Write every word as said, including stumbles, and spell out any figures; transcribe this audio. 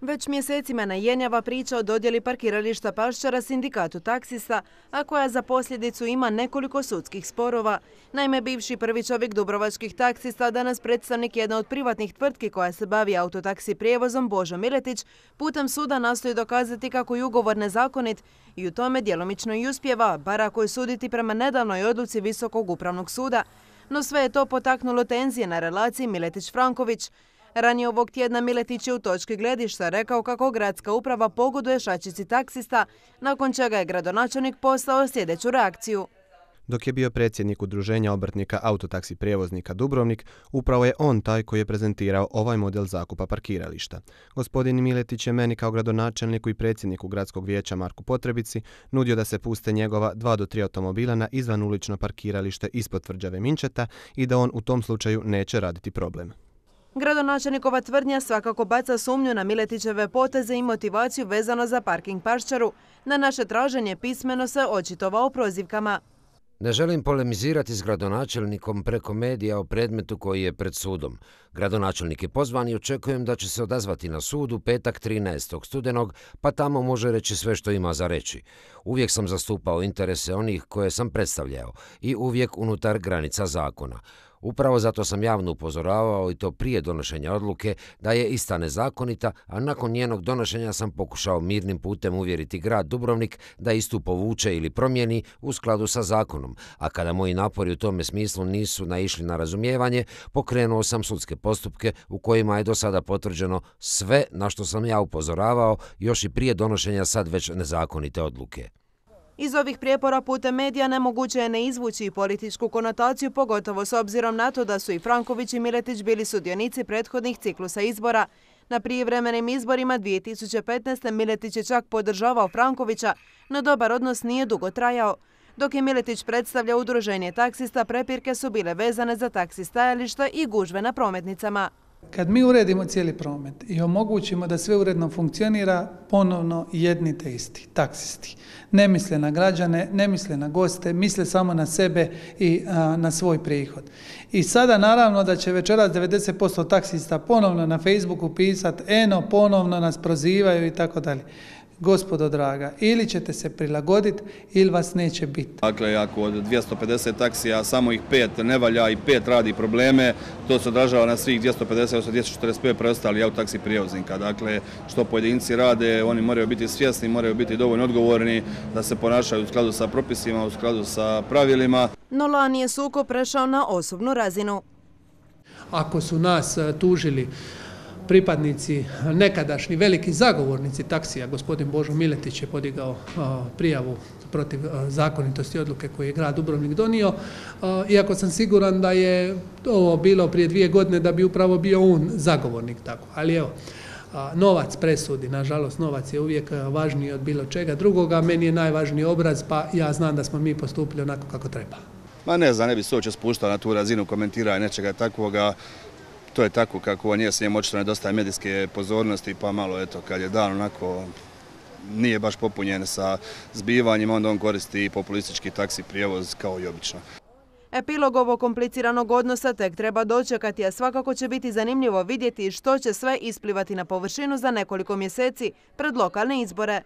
Već mjesecima najenjava priča o dodjeli parkirališta Paščara sindikatu taksista, a koja za posljedicu ima nekoliko sudskih sporova. Naime, bivši prvi čovjek dubrovačkih taksista, danas predstavnik jedne od privatnih tvrtki koja se bavi autotaksi prijevozom, Božo Miletić, putem suda nastoji dokazati kako je ugovor nezakonit i u tome djelomično i uspjeva, bar ako je suditi prema nedavnoj odluci Visokog upravnog suda. No sve je to potaknulo tenzije na relaciji Miletić-Franković. Ranije ovog tjedna Miletić je u točki gledišta rekao kako gradska uprava pogoduje šačici taksista, nakon čega je gradonačelnik poslao sljedeću reakciju. Dok je bio predsjednik udruženja obrtnika autotaksi prijevoznika Dubrovnik, upravo je on taj koji je prezentirao ovaj model zakupa parkirališta. Gospodin Miletić je meni kao gradonačelniku i predsjedniku gradskog vijeća Marku Potrebici nudio da se puste njegova dva do tri automobila na izvanulično parkiralište ispod tvrđave Minčeta i da on u tom slučaju neće raditi problem. Gradonačelnikova tvrdnja svakako baca sumnju na Miletićeve poteze i motivaciju vezano za parking Paščaru. Na naše traženje pismeno se očitovao prozivkama. Ne želim polemizirati s gradonačelnikom preko medija o predmetu koji je pred sudom. Gradonačelnik je pozvan i očekujem da će se odazvati na sudu petak trinaestog studenog, pa tamo može reći sve što ima za reći. Uvijek sam zastupao interese onih koje sam predstavljao i uvijek unutar granica zakona. Upravo zato sam javno upozoravao i to prije donošenja odluke da je ista nezakonita, a nakon njenog donošenja sam pokušao mirnim putem uvjeriti grad Dubrovnik da istu povuče ili promijeni u skladu sa zakonom, a kada moji napori u tome smislu nisu naišli na razumijevanje, pokrenuo sam sudske postupke u kojima je do sada potvrđeno sve na što sam ja upozoravao još i prije donošenja sad već nezakonite odluke. Iz ovih prijepora putem medija nemoguće je ne izvući i političku konotaciju, pogotovo s obzirom na to da su i Franković i Miletić bili sudionici prethodnih ciklusa izbora. Na prijevremenim izborima dvije tisuće petnaeste. Miletić je čak podržavao Frankovića, no dobar odnos nije dugo trajao. Dok je Miletić predstavljao udruženje taksista, prepirke su bile vezane za taksi stajališta i gužve na prometnicama. Kad mi uredimo cijeli promet i omogućimo da sve uredno funkcionira, ponovno jedni te isti, taksisti. Ne misle na građane, ne misle na goste, misle samo na sebe i a, na svoj prihod. I sada naravno da će večeras devedeset posto taksista ponovno na Facebooku pisati, eno, ponovno nas prozivaju i tako dalje. Gospodo draga, ili ćete se prilagoditi ili vas neće biti. Dakle, ako od dvjesto pedeset taksija samo ih pet ne valja i pet radi probleme, to se odražava na svih dvjesto pedeset, odnosno dvjesto četrdeset pet preostali autotaksi prijevoznika. Dakle, što pojedinci rade, oni moraju biti svjesni, moraju biti dovoljno odgovorni da se ponašaju u skladu sa propisima, u skladu sa pravilima. No lani je sukob prešao na osobnu razinu. Ako su nas tužili pripadnici, nekadašnji veliki zagovornici taksija, gospodin Božo Miletić je podigao a, prijavu protiv a, zakonitosti odluke koju je grad Dubrovnik donio, a, iako sam siguran da je ovo bilo prije dvije godine da bi upravo bio on zagovornik tako. Ali evo, a, novac presudi, nažalost novac je uvijek važniji od bilo čega drugoga, meni je najvažniji obraz, pa ja znam da smo mi postupili onako kako treba. Ma ne znam, ne bi se uopće spuštao na tu razinu komentiranja nečega takvoga. To je tako kako on je, s njemu očito nedostaje medijske pozornosti, pa malo eto, kad je dan onako nije baš popunjen sa zbivanjima, onda on koristi populistički taksi prijevoz kao i obično. Epilog ovog kompliciranog odnosa tek treba dočekati, a svakako će biti zanimljivo vidjeti što će sve isplivati na površinu za nekoliko mjeseci pred lokalne izbore.